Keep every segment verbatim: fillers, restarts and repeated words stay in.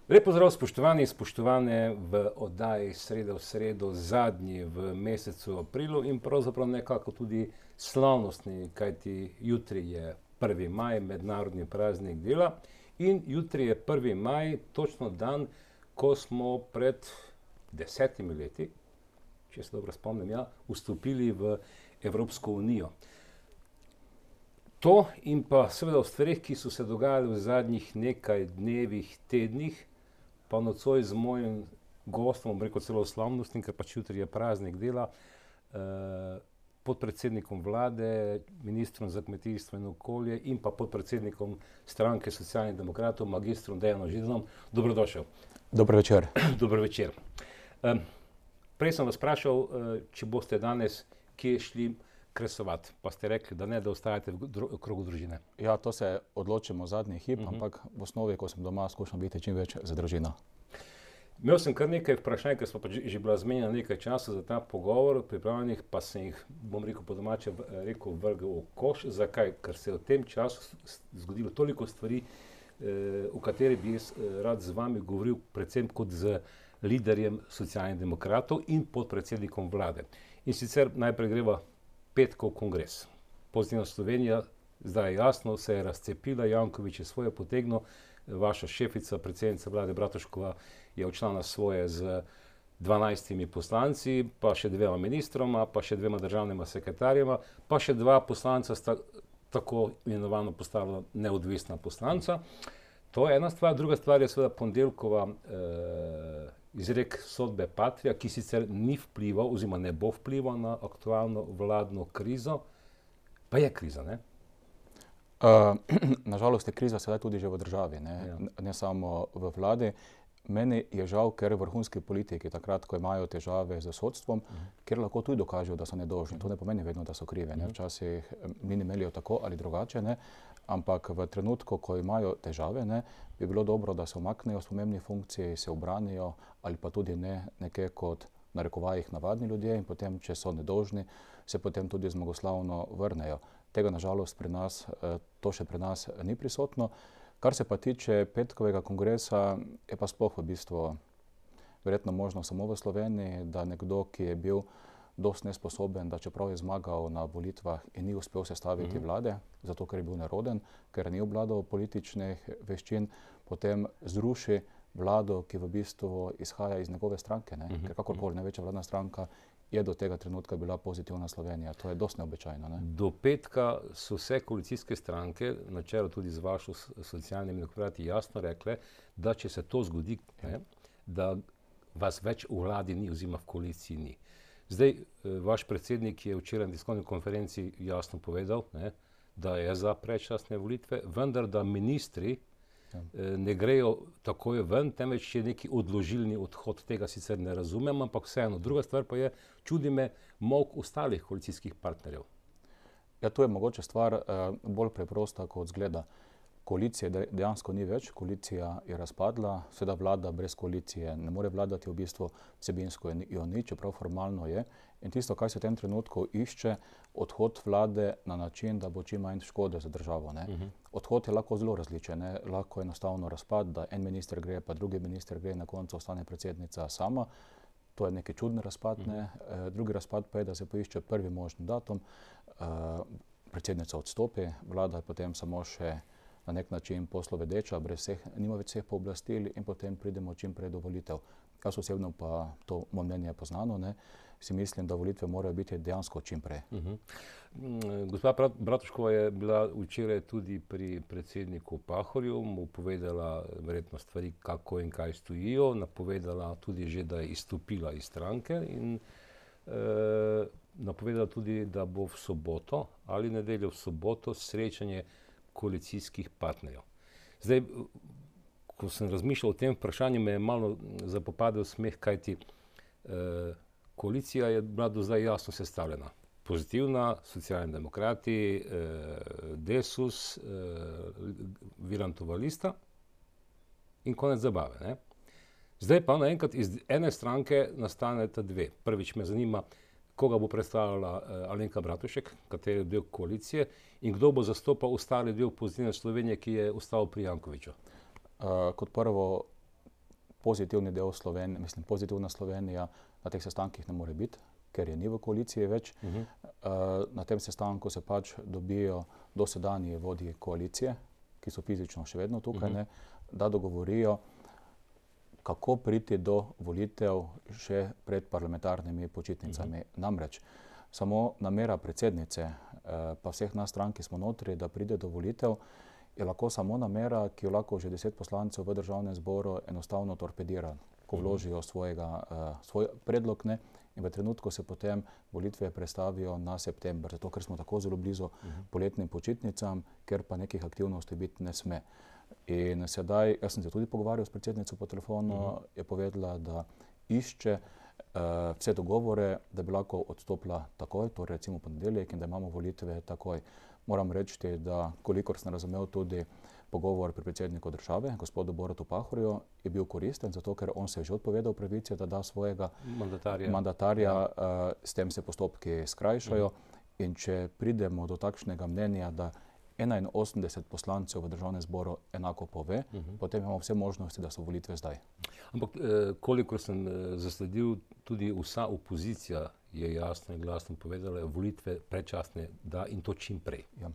Lep pozdrav, spoštovani in spoštovane v oddaji Sreda v sredo, zadnji v mesecu aprilu in pravzaprav nekako tudi slavnostni, kajti jutri je prvi maj, mednarodni praznik dela, in jutri je prvi maj, točno dan, ko smo pred desetimi leti, če se dobro spomnim, ja, vstopili v Evropsko unijo. To in pa seveda v stvareh, ki so se dogajali v zadnjih nekaj dnevih, tednih, pa nocoj z mojim gostom, bom rekel celo slavnostnim, ker pač jutri je praznik dela, eh, podpredsednikom vlade, ministrom za kmetijstvo in okolje in pa podpredsednikom stranke Socialnih demokratov, magistrom Dejanom Židanom. Dobrodošel. Dober večer. Dober večer. Um, prej sem vas vprašal, če boste danes kje šli kresovati, pa ste rekli, da ne, da ostajate v dru- krogu družine. Ja, to se odločimo zadnji hip, Mhm. ampak v osnovi, ko sem doma, skušam biti čim več za družino. Imel sem kar nekaj vprašanj, ker smo pa že, že bila zmenjena nekaj časa za ta pogovor, pripravljenih, pa sem jih, bom rekel po domače, v- rekel vrgel v koš. Zakaj? Ker se je v tem času s- s- zgodilo toliko stvari, eh, o katerih bi jaz eh, rad z vami govoril, predvsem kot z liderjem Socialnih demokratov in podpredsednikom vlade. In sicer najprej greva petkov kongres. Pozitivna Slovenija, zdaj je jasno, se je razcepila, Janković je svoje potegnil, vaša šefica, predsednica vlade Bratuškova je odšla na svoje z dvanajstimi poslanci, pa še dvema ministroma, pa še dvema državnima sekretarjema, pa še dva poslanca sta tako imenovano postala neodvisna poslanca. To je ena stvar. Druga stvar je seveda ponedeljkova eh, izrek sodbe Patria, ki sicer ni vplival oziroma ne bo vplival na aktualno vladno krizo, pa je kriza, ne? Uh, nažalost je kriza sedaj tudi že v državi, ne, Ja. N- ne samo v vladi. Meni je žal, ker vrhunski politiki takrat, ko imajo težave z sodstvom, ker lahko tudi dokažejo, da so nedolžni. To ne pomeni vedno, da so krivi. Ne. Včasih em, mini melijo tako ali drugače, ne. Ampak v trenutku, ko imajo težave, ne, bi bilo dobro, da se umaknejo s pomembnih funkcij, se obranijo ali pa tudi ne nekje kot narekovajih navadni ljudje in potem, če so nedolžni, se potem tudi zmagoslavno vrnejo. Tega nažalost pri nas, eh, to še pri nas ni prisotno. Kar se pa tiče petkovega kongresa, je pa sploh v bistvu verjetno možno samo v Sloveniji, da nekdo, ki je bil dosti nesposoben, da čeprav je zmagal na volitvah in ni uspel sestaviti Mhm. vlade, zato ker je bil neroden, ker ni obvladal političnih veščin, potem zruši vlado, ki v bistvu izhaja iz njegove stranke, ne? Mhm. Ker kakorkoli največja vladna stranka je do tega trenutka bila Pozitivna Slovenija. To je dosti neobičajno, ne? Do petka so vse koalicijske stranke, na čelu tudi z vašo s- Socialnimi demokrati, jasno rekle, da če se to zgodi, ne, da vas več v vladi ni oziroma v koaliciji ni. Zdaj, eh, vaš predsednik je včeraj na tiskovni konferenci jasno povedal, ne, da je za predčasne volitve, vendar da ministri Ja. eh, ne grejo takoj ven, temveč je neki odložilni odhod. Tega sicer ne razumem, ampak vseeno. Druga stvar pa je, čudi me molk ostalih koalicijskih partnerjev. Ja, tu je mogoče stvar eh, bolj preprosta, kot zgleda. Koalicije de- dejansko ni več, koalicija je razpadla, seveda vlada brez koalicije ne more vladati, v bistvu vsebinsko je ni- jo ni, čeprav formalno je. In tisto, kar se v tem trenutku išče, odhod vlade na način, da bo čim manj škode za državo, ne. Mhm. Odhod je lahko zelo različen, ne. Lahko enostavno razpad, da en minister gre, pa drugi minister gre, na koncu ostane predsednica sama. To je neki čuden razpad, ne. Eh, drugi razpad pa je, da se poišče prvi možni datum, eh, predsednica odstopi, vlada je potem samo še na nek način poslovedeča, brez vseh, nima več vseh pooblastil in potem pridemo čim prej do volitev. Jaz osebno pa, to moje mnenje je poznano, ne, si mislim, da volitve morajo biti dejansko čim prej. Mhm. Mm, Gospa Brat- Bratuškova je bila včeraj tudi pri predsedniku Pahorju, mu povedala verjetno stvari, kako in kaj stojijo, napovedala tudi že, da je izstopila iz stranke in eh, napovedala tudi, da bo v soboto ali nedeljo v soboto srečanje koalicijskih partnerjev. Zdaj, ko sem razmišljal o tem vprašanju, me je malo zapopadel smeh, kajti eh, koalicija je bila do zdaj jasno sestavljena. Pozitivna, Socialni demokrati, eh, Desus, eh, Virantova lista in konec zabave, ne. Zdaj pa naenkrat iz ene stranke nastaneta dve. Prvič me zanima, koga bo predstavljala eh, Alenka Bratušek, kateri del koalicije, in kdo bo zastopal ostali del Pozitivne Slovenije, ki je ostal pri Jankoviću. Uh, kot prvo, pozitivni del Slovenije, mislim, pozitivna Slovenija na teh sestankih ne more biti, ker je ni v koaliciji več. Uh -huh. uh, na tem sestanku se pač dobijo dosedanji vodji koalicije, ki so fizično še vedno tukaj, uh -huh. ne, da dogovorijo, kako priti do volitev še pred parlamentarnimi počitnicami. Uh -huh. Namreč, samo namera predsednice, uh, pa vseh nas strank, ki smo notri, da pride do volitev, je lahko samo namera, ki jo lahko že deset poslancev v državnem zboru enostavno torpedira, ko vložijo svojega, uh, svoj predlog, ne, in v trenutku se potem volitve prestavijo na september, zato ker smo tako zelo blizu uh -huh. poletnim počitnicam, ker pa nekih aktivnosti biti ne sme. In sedaj, jaz sem se tudi pogovarjal s predsednico po telefonu, uh -huh. je povedala, da išče uh, vse dogovore, da bi lahko odstopila takoj, torej recimo ponedeljek, in da imamo volitve takoj. Moram reči, da kolikor sem razumel tudi pogovor pri predsedniku države, gospodu Borutu Pahorju, je bil koristen, zato ker on se je že odpovedal pravici, da da svojega mandatarja, mandatarja ja. uh, s tem se postopki skrajšajo. Uh -huh. In če pridemo do takšnega mnenja, da enainosemdeset poslancev v državnem zboru enako pove, uh -huh. potem imamo vse možnosti, da so volitve zdaj. Ampak eh, kolikor sem eh, zasledil, tudi vsa opozicija je jasno in glasno povedala, volitve predčasne, da in to čim prej. Ja.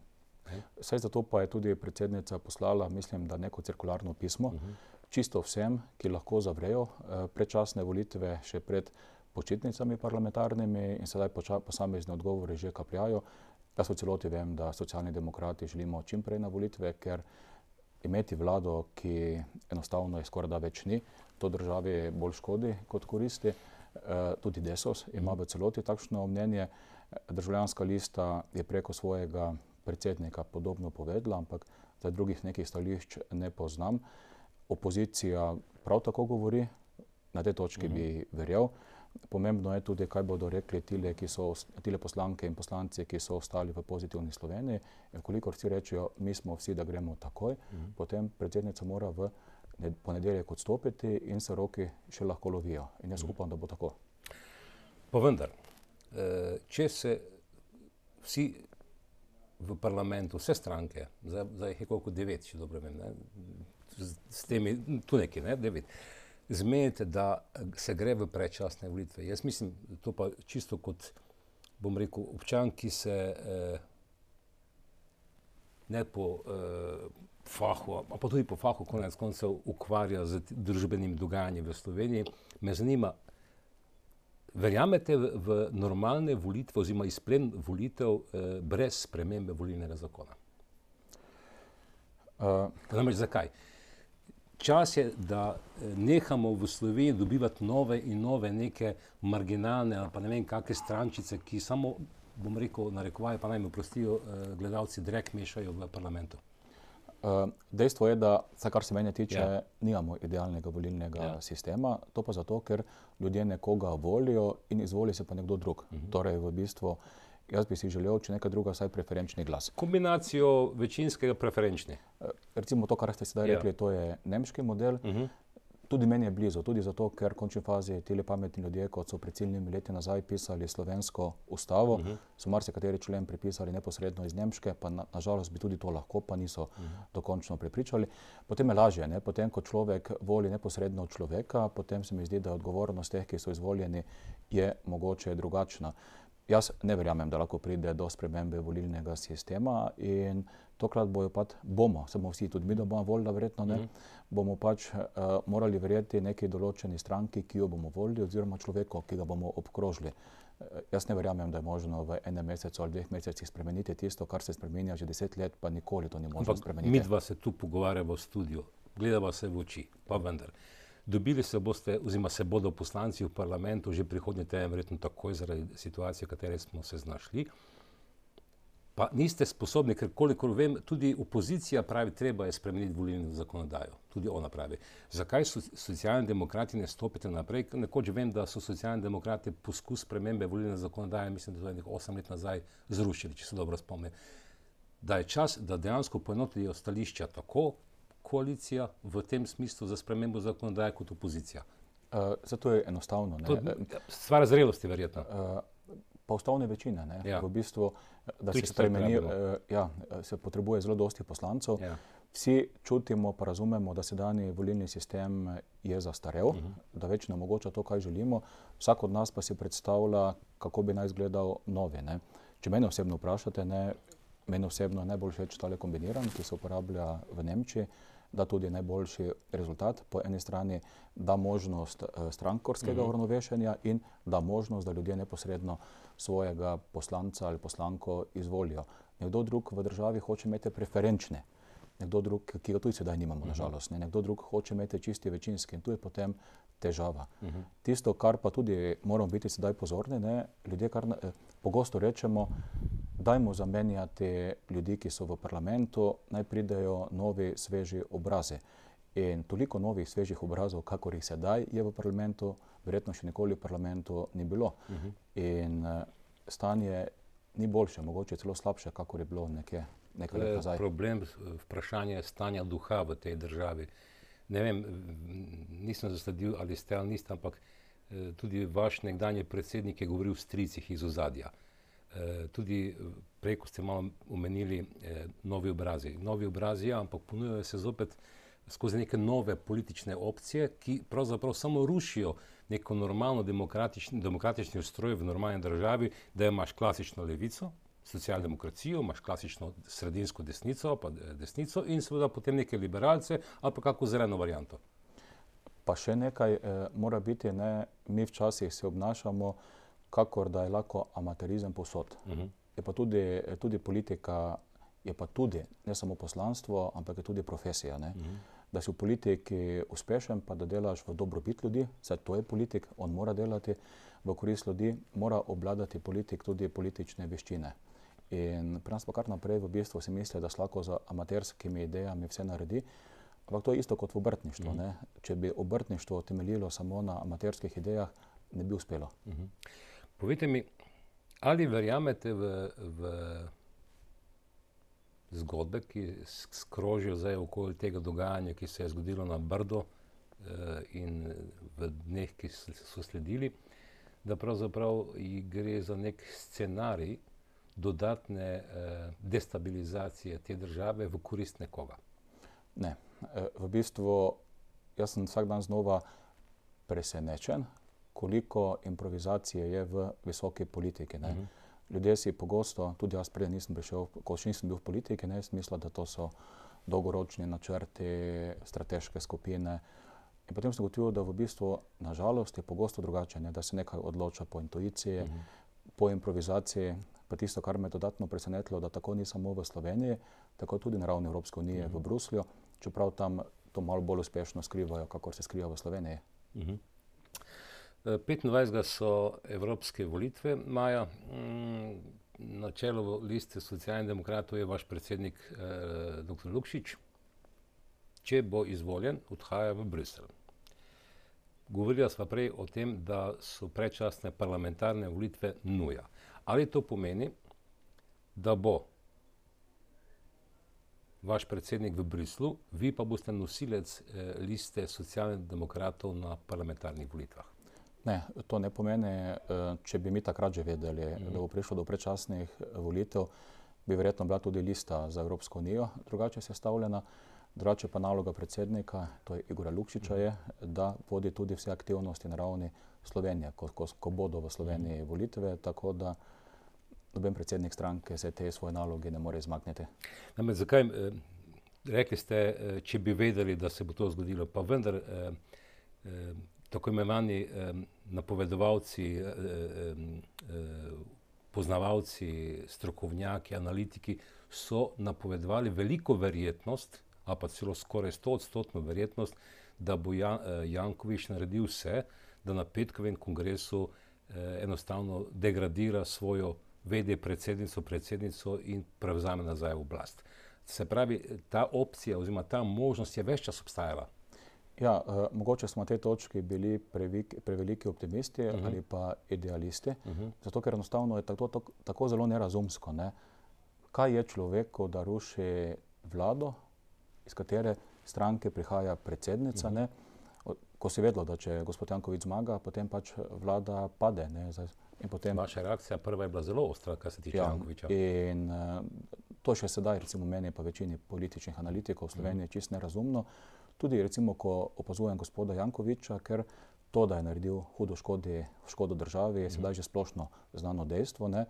Saj zato pa je tudi predsednica poslala, mislim, da neko cirkularno pismo, uh -huh. čisto vsem, ki lahko zavrejo eh, predčasne volitve še pred počitnicami parlamentarnimi, in sedaj posamezne odgovore že kapljajo. Jaz v celoti vem, da Socialni demokrati želimo čim prej na volitve, ker imeti vlado, ki enostavno je skoraj da več ni, to državi bolj škodi kot koristi. E, tudi Desus ima v celoti takšno mnenje. Državljanska lista je preko svojega predsednika podobno povedala, ampak za drugih nekih stališč ne poznam. Opozicija prav tako govori, na tej točki uh-huh. bi verjel. Pomembno je tudi, kaj bodo rekli tile, ki so, tile poslanke in poslanci, ki so ostali v Pozitivni Sloveniji. In kolikor vsi rečejo, mi smo vsi, da gremo takoj, uh-huh. potem predsednica mora v ponedeljek odstopiti in se roki še lahko lovijo. In jaz uh-huh. upam, da bo tako. Pa vendar, če se vsi v parlamentu, vse stranke, zdaj jih je koliko devet, če dobro vem, ne? S temi, tu nekaj, ne, devet, zmenite, da se gre v predčasne volitve. Jaz mislim, to pa čisto kot, bom rekel, občan, ki se eh, ne po eh, fahu, pa tudi po fahu konec koncev ukvarja z družbenim dogajanjem v Sloveniji, me zanima, verjamete v, v normalne volitve oziroma izplen volitev eh, brez spremembe volilnega zakona? Uh, Namreč zakaj? Čas je, da nehamo v Sloveniji dobivati nove in nove neke marginalne ali pa ne vem kakve strančice, ki samo, bom rekel, narekovajo, pa naj mi oprostijo gledalci, drek mešajo v parlamentu. Uh, dejstvo je, da, vsaj kar se mene tiče, ja. nimamo idealnega volilnega ja. sistema. To pa zato, ker ljudje nekoga volijo in izvoli se pa nekdo drug. Uh-huh. Torej, v bistvu, jaz bi si želel, če nekaj druga, vsaj preferenčni glas. Kombinacijo večinskega preferenčni. Uh, recimo to, kar ste sedaj ja. rekli, to je nemški model. Uh-huh. Tudi meni je blizu, tudi zato, ker v končni fazi tile pametni ljudje, kot so pred ciljnimi leti nazaj pisali slovensko ustavo, uh-huh. so marsikateri člen pripisali neposredno iz Nemške, pa na, nažalost bi tudi to lahko, pa niso uh-huh. dokončno prepričali. Potem je lažje, ne? Potem, ko človek voli neposredno človeka, potem se mi zdi, da odgovornost teh, ki so izvoljeni, je mogoče drugačna. Jaz ne verjamem, da lahko pride do spremembe volilnega sistema in tokrat bojo pač, bomo, samo vsi, tudi mi, da bomo volili, verjetno ne, mm-hmm. bomo pač uh, morali verjeti neki določeni stranki, ki jo bomo volili, oziroma človeku, ki ga bomo obkrožili. Uh, jaz ne verjamem, da je možno v enem mesecu ali dveh mesecih spremeniti tisto, kar se spremenja že deset let, pa nikoli to ni možno Ampak spremeniti. Mi dva se tu pogovarjamo v studiu, gledava se v oči, pa vendar. Dobili se boste, oziroma se bodo poslanci v parlamentu že prihodnji teden, verjetno takoj zaradi situacije, v kateri smo se znašli. Pa niste sposobni, ker kolikor vem, tudi opozicija pravi, treba je spremeniti volilno zakonodajo. Tudi ona pravi. Zakaj so socialni demokrati ne stopite naprej? Nekoč vem, da so socialni demokrati poskus spremembe volilne zakonodaje, mislim, da to je nekaj osem let nazaj, zrušili, če se dobro spomnim. Da je čas, da dejansko poenotijo stališča tako koalicija v tem smislu za spremembo zakonodaje kot opozicija. Uh, zato je enostavno. Ne? To, stvar zrelosti verjetno. Uh, pa ustavne večine. Ne? Ja. V bistvu, da se spremeni, uh, ja, se potrebuje zelo dosti poslancev. Ja. Vsi čutimo pa razumemo, da sedanji volilni sistem je zastarel, uh -huh. da več ne omogoča to, kaj želimo. Vsak od nas pa si predstavlja, kako bi naj izgledal novi. Ne. Če mene osebno vprašate, ne, meni osebno je najbolj všeč tale kombiniran, ki se uporablja v Nemčiji, da tudi najboljši rezultat. Po eni strani da možnost uh, strankarskega uh -huh. uravnovešenja in da možnost, da ljudje neposredno svojega poslanca ali poslanko izvolijo. Nekdo drug v državi hoče imeti preferenčne. Nekdo drug, ki ga tudi sedaj nimamo, uh-huh. nažalost, ne. Nekdo drug hoče imeti čisti večinski in tu je potem težava. Uh-huh. Tisto, kar pa tudi moramo biti sedaj pozorni, ne, ljudje kar eh, pogosto rečemo, dajmo zamenjati ljudi, ki so v parlamentu, naj pridejo novi, sveži obrazi. In toliko novih, svežih obrazov, kakor jih sedaj je v parlamentu, verjetno še nikoli v parlamentu ni bilo. Uh-huh. In eh, stanje ni boljše, mogoče celo slabše, kakor je bilo nekje. Problem, vprašanje stanja duha v tej državi. Ne vem, nisem zasledil, ali ste ali niste, ampak tudi vaš nekdanji predsednik je govoril o stricih iz ozadja. Tudi prej, ko ste malo omenili novi obrazi. Novi obrazi, ja, ampak ponujajo se zopet skozi neke nove politične opcije, ki pravzaprav samo rušijo neko normalno demokratični, demokratični ustroj v normalni državi, da imaš klasično levico, socialdemokracijo, imaš klasično sredinsko desnico, pa desnico in seveda potem neke liberalce ali pa kako zeleno varianto. Pa še nekaj eh, mora biti, ne, mi včasih se obnašamo, kakor da je lahko amaterizem povsod. Uh-huh. Je pa tudi, tudi politika, je pa tudi ne samo poslanstvo, ampak je tudi profesija. Ne? Uh-huh. Da si v politiki uspešen, pa da delaš v dobrobit ljudi, saj to je politik, on mora delati v korist ljudi, mora obvladati politik tudi politične veščine. In pri nas pa kar naprej v bistvu si misli, da se lahko z amaterskimi idejami vse naredi, ampak to je isto kot v obrtništvu. Uh-huh. Ne? Če bi obrtništvo temeljilo samo na amaterskih idejah, ne bi uspelo. Uh-huh. Povejte mi, ali verjamete v, v zgodbe, ki skrožijo zdaj okoli tega dogajanja, ki se je zgodilo na Brdu eh, in v dneh, ki so sledili, da pravzaprav gre za nek scenarij dodatne eh, destabilizacije te države v korist nekoga? Ne. V bistvu, jaz sem vsak dan znova presenečen, koliko improvizacije je v visoki politiki. Ne? Uh-huh. Ljudje si pogosto, tudi jaz prej nisem prišel, ko še nisem bil v politiki, ne, smisla, da to so dolgoročni načrti, strateške skupine. In potem sem ugotovil, da v bistvu, nažalost, je pogosto drugače, ne? Da se nekaj odloča po intuiciji, uh-huh. po improvizaciji. Pa tisto, kar me je dodatno presenetilo, da tako ni samo v Sloveniji, tako tudi na ravni Evropske unije uh-huh. v Bruslju, čeprav tam to malo bolj uspešno skrivajo, kakor se skriva v Sloveniji. Uh-huh. petindvajsetega so evropske volitve maja. Na čelu liste Socialnih demokratov je vaš predsednik eh, doktor Lukšič. Če bo izvoljen, odhaja v Bruselj. Govorila sva prej o tem, da so predčasne parlamentarne volitve nuja. Ali to pomeni, da bo vaš predsednik v Bruslju, vi pa boste nosilec eh, liste Socialnih demokratov na parlamentarnih volitvah? Ne, to ne pomeni, če bi mi takrat že vedeli, mm. da bo prišlo do predčasnih volitev, bi verjetno bila tudi lista za Evropsko unijo drugače sestavljena. Drugače pa naloga predsednika, to je Igorja Lukšiča, je, da vodi tudi vse aktivnosti na ravni Slovenije, ko, ko, ko bodo v Sloveniji mm. volitve, tako da noben predsednik stranke se te svoje naloge ne more izmakniti. Namreč zakaj, eh, rekli ste, eh, če bi vedeli, da se bo to zgodilo, pa vendar eh, eh, tako imenovani eh, napovedovalci, eh, eh, poznavalci, strokovnjaki, analitiki so napovedovali veliko verjetnost, a pa celo skoraj stoodstotno verjetnost, da bo Jan, eh, Janković naredil vse, da na petkovem kongresu eh, enostavno degradira svojo vede predsednico, predsednico in prevzame nazaj oblast. Se pravi, ta opcija oziroma ta možnost je ves čas obstajala. Ja, uh, mogoče smo na tej točki bili previk, preveliki optimisti uh-huh. ali pa idealisti, uh-huh. zato ker enostavno je tako, tako, tako zelo nerazumsko. Ne? Kaj je človeku, da ruši vlado, iz katere stranke prihaja predsednica, uh-huh. ne? Ko si vedelo, da če gospod Janković zmaga, potem pač vlada pade. Ne? In potem... Vaša reakcija prva je bila zelo ostra, kar se tiče ja, Jankovića. In uh, To še sedaj, recimo meni pa večini političnih analitikov v Sloveniji čist nerazumno. Tudi recimo, ko opazujem gospoda Jankovića, ker to, da je naredil hudo škodi, škodo državi, je sedaj že splošno znano dejstvo, ne?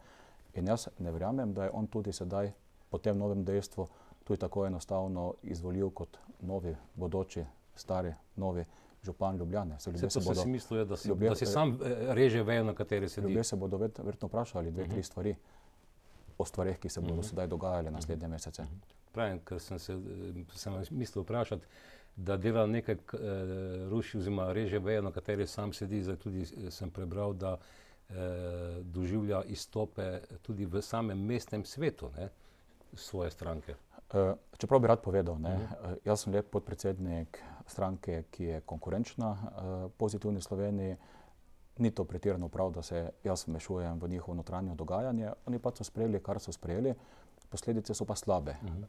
In jaz ne verjamem, da je on tudi sedaj po tem novem dejstvu tudi tako enostavno izvolil kot novi, bodoči, stari, novi župan Ljubljane. Se to se si mislil, da si, ljubje, da si sam reže vejo, na kateri sedi. Ljudje se bodo verjetno vprašali dve, uh -huh. tri stvari o stvareh, ki se bodo uh -huh. sedaj dogajale naslednje mesece. Uh -huh. Pravim, ker sem se sem mislil vprašati, da dela nekaj eh, ruši oziroma reže vejo, na kateri sam sedi. Zdaj tudi sem prebral, da eh, doživlja izstope tudi v samem mestnem svetu, ne, svoje stranke. Uh, čeprav bi rad povedal, ne, uh-huh. uh, jaz sem lep podpredsednik stranke, ki je konkurenčna uh, Pozitivni Sloveniji. Ni to pretirano prav, da se jaz vmešujem v njihovo notranje dogajanje. Oni pa so sprejeli, kar so sprejeli, posledice so pa slabe. Uh-huh.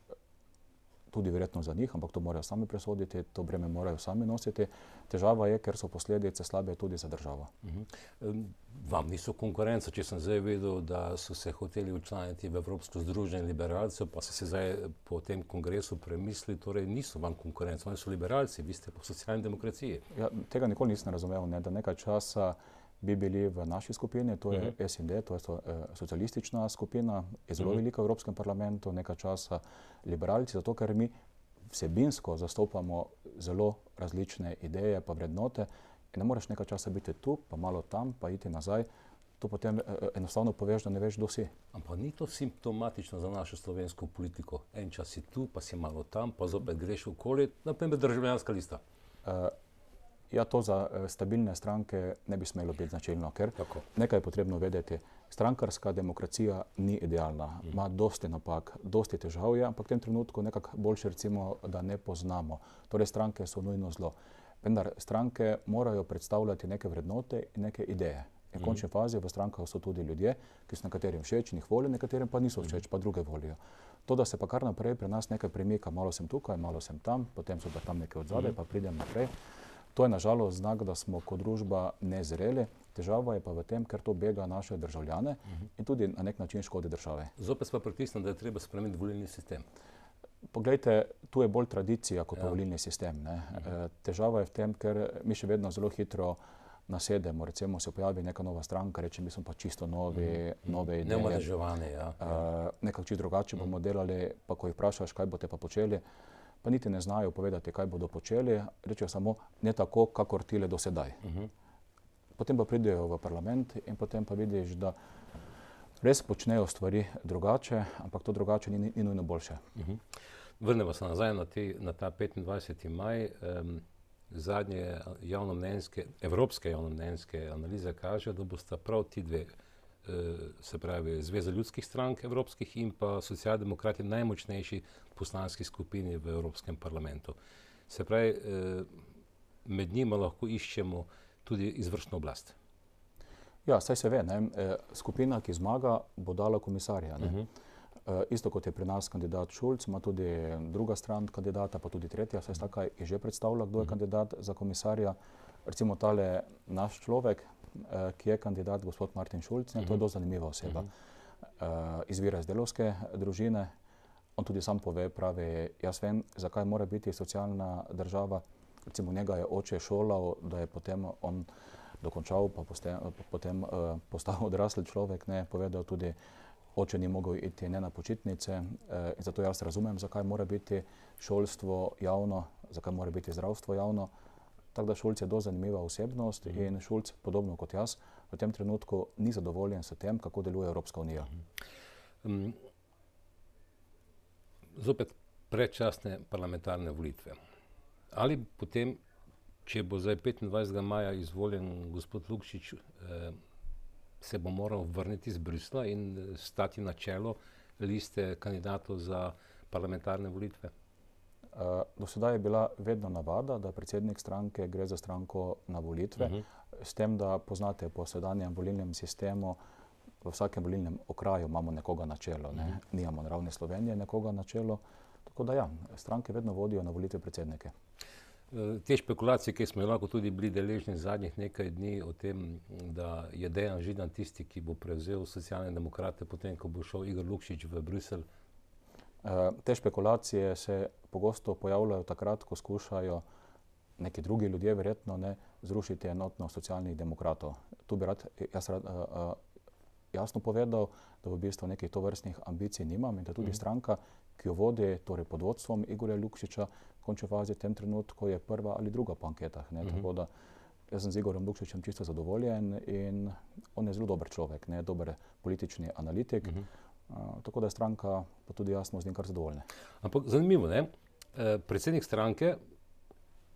Tudi verjetno za njih, ampak to morajo sami presoditi, to breme morajo sami nositi. Težava je, ker so posledice slabe tudi za državo. Uh-huh. Vam niso konkurenca, če sem zdaj vedel, da so se hoteli včlaniti v Evropsko združenje liberalcev, pa so se zdaj po tem kongresu premislili, torej niso vam konkurenca, oni so liberalci, vi ste po socialni demokraciji. Ja, tega nikoli nisem razumel, ne, da nekaj časa bi bili v naši skupini, to je uh-huh. S in D, to je so, eh, socialistična skupina, je zelo uh-huh. velika v Evropskem parlamentu, nekaj časa liberalci, zato ker mi vsebinsko zastopamo zelo različne ideje pa vrednote in ne moreš nekaj časa biti tu, pa malo tam, pa iti nazaj. To potem eh, enostavno poveš, da ne veš, kdo si. Ampak ni to simptomatično za našo slovensko politiko? En čas si tu, pa si malo tam, pa zopet greš okoli, naprimer Državljanska lista. Uh, Ja, to za uh, stabilne stranke ne bi smelo biti značilno, ker Tako. nekaj je potrebno vedeti. Strankarska demokracija ni idealna, mm. ima dosti napak, dosti težav je, ampak v tem trenutku nekako boljše recimo, da ne poznamo. Torej, stranke so nujno zlo. Vendar stranke morajo predstavljati neke vrednote in neke ideje. In v mm. končni fazi v strankah so tudi ljudje, ki so nekaterim všeč in jih volijo, nekaterim pa niso všeč, mm. pa druge volijo. To, da se pa kar naprej pri nas nekaj premika, malo sem tukaj, malo sem tam, potem so pa tam nekaj odzadaj, mm. pa pridem naprej. To je nažalost znak, da smo kot družba nezreli. Težava je pa v tem, ker to bega naše državljane uh-huh. in tudi na nek način škodi države. Zopet pa pritisnem, da je treba spremeniti volilni sistem. Poglejte, tu je bolj tradicija kot ja. volilni sistem. Ne? Uh-huh. Težava je v tem, ker mi še vedno zelo hitro nasedemo. Recimo se pojavi neka nova stranka, reče, mi smo pa čisto novi, uh-huh. nove ideje. Neomadeževane, ja. Uh, nekako čisto drugače uh-huh. bomo delali, pa ko jih vprašaš, kaj boste pa počeli, pa niti ne znajo povedati, kaj bodo počeli, rečejo samo ne tako, kakor tile do sedaj. Uh-huh. Potem pa pridejo v parlament in potem pa vidiš, da res počnejo stvari drugače, ampak to drugače ni, ni nujno boljše. Uh-huh. Vrnemo se nazaj na, te, na ta petindvajseti maj. Um, zadnje javnomnenjske, evropske javnomnenjske analize kažejo, da bosta prav ti dve, se pravi Zveza ljudskih strank evropskih in pa socialdemokrati najmočnejši poslanski skupini v Evropskem parlamentu. Se pravi, med njima lahko iščemo tudi izvršno oblast. Ja, saj se ve, ne? Skupina, ki zmaga, bo dala komisarja. Ne? Uh-huh. Isto kot je pri nas kandidat Šulc, ima tudi druga stran kandidata, pa tudi tretja, saj taka je že predstavila, kdo je uh-huh. kandidat za komisarja. Recimo tale naš človek, ki je kandidat, gospod Martin Šulc, ne, to je dosti zanimiva oseba. Uh-huh. Izvira iz delavske družine, on tudi sam pove, pravi, jaz vem, zakaj mora biti socialna država. Recimo njega je oče šolal, da je potem on dokončal, pa poste, potem uh, postal odrasel človek, ne, povedal tudi, oče ni mogel iti ne na počitnice, uh, in zato jaz razumem, zakaj mora biti šolstvo javno, zakaj mora biti zdravstvo javno. Tako da Šulc je dosti zanimiva osebnost mm. in Šulc, podobno kot jaz, v tem trenutku ni zadovoljen s tem, kako deluje Evropska unija. Mm. Um, zopet predčasne parlamentarne volitve. Ali potem, če bo zdaj petindvajsetega maja izvoljen gospod Lukšič, eh, se bo moral vrniti iz Bruslja in stati na čelo liste kandidatov za parlamentarne volitve? Uh, do sedaj je bila vedno navada, da predsednik stranke gre za stranko na volitve, uh-huh. s tem, da poznate po sedanjem volilnem sistemu, v vsakem volilnem okraju imamo nekoga na čelo, ne? Uh-huh. Nijamo na ravni Slovenije nekoga na čelo, tako da ja, stranke vedno vodijo na volitve predsednike. Te špekulacije, ki smo lahko tudi bili deležni zadnjih nekaj dni o tem, da je Dejan Židan tisti, ki bo prevzel Socialne demokrate, potem, ko bo šel Igor Lukšič v Bruselj. Te špekulacije se pogosto pojavljajo takrat, ko skušajo neki drugi ljudje verjetno ne zrušiti enotnost socialnih demokratov. Tu bi rad, jaz rad uh, jasno povedal, da v bistvu nekih tovrstnih ambicij nimam in da tudi mm. stranka, ki jo vodi torej pod vodstvom Igorja Lukšiča, v končni fazi v tem trenutku je prva ali druga po anketah. Ne? Mm -hmm. Tako da jaz sem z Igorjem Lukšičem čisto zadovoljen in on je zelo dober človek, ne? Dober politični analitik. Mm -hmm. uh, tako da je stranka pa tudi jasno z njim kar zadovoljna. Ampak zanimivo, ne? E, predsednik stranke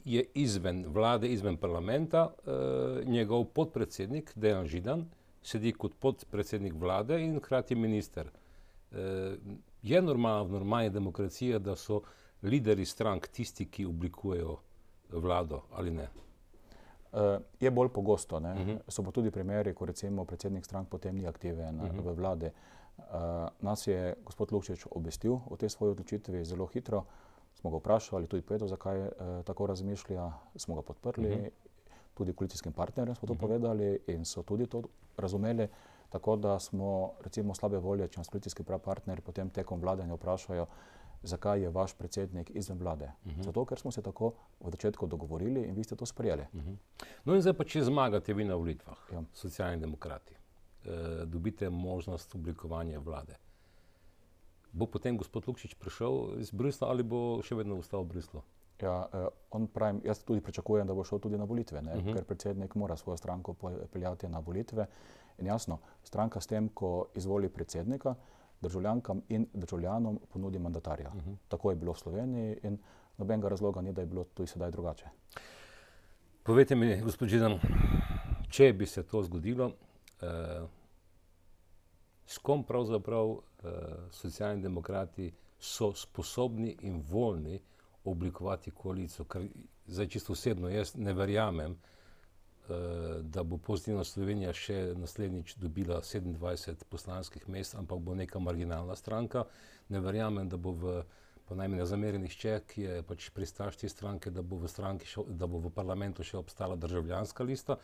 je izven vlade, izven parlamenta, e, njegov podpredsednik Dejan Židan sedi kot podpredsednik vlade in hkrati minister. E, je normalno v normalni demokraciji, da so lideri strank tisti, ki oblikujejo vlado ali ne? E, je bolj pogosto. Ne? Uh -huh. So pa tudi primeri, ko recimo predsednik strank potem ni aktiven uh -huh. v vladi. E, nas je gospod Lukšič obvestil o tej svoji odločitvi zelo hitro. Smo ga vprašali, tudi povedal, zakaj e, tako razmišlja, smo ga podprli. Uh -huh. Tudi koalicijskim partnerjem smo to uh -huh. povedali in so tudi to razumeli. Tako da smo recimo slabe volje, če nas koalicijski partnerji potem tekom vladanja vprašajo, zakaj je vaš predsednik izven vlade. Uh -huh. Zato, ker smo se tako v začetku dogovorili in vi ste to sprejeli. Uh -huh. No in zdaj pa, če zmagate vi na volitvah, ja. Socialni demokrati, e, dobite možnost oblikovanja vlade. Bo potem gospod Lukšič prišel iz Bruslja ali bo še vedno ostal v Bruslju? Ja, eh, on pravim, jaz tudi pričakujem, da bo šel tudi na volitve, ne? Uh -huh. Ker predsednik mora svojo stranko peljati na volitve. In jasno, stranka s tem, ko izvoli predsednika, državljankam in državljanom ponudi mandatarja. Uh -huh. Tako je bilo v Sloveniji in nobenega razloga ni, da je bilo tudi sedaj drugače. Povejte mi, gospod Židan, če bi se to zgodilo, eh, s kom pravzaprav eh, Socialni demokrati so sposobni in voljni oblikovati koalicijo, ker zdaj čisto osebno jaz ne verjamem, uh, da bo Pozitivna Slovenija še naslednjič dobila sedemindvajset poslanskih mest, ampak bo neka marginalna stranka. Ne verjamem, da bo v, pa naj mi ne zameri nihče, ki je pač pristaš te stranke, da bo v stranki še, da bo v parlamentu še obstala državljanska lista.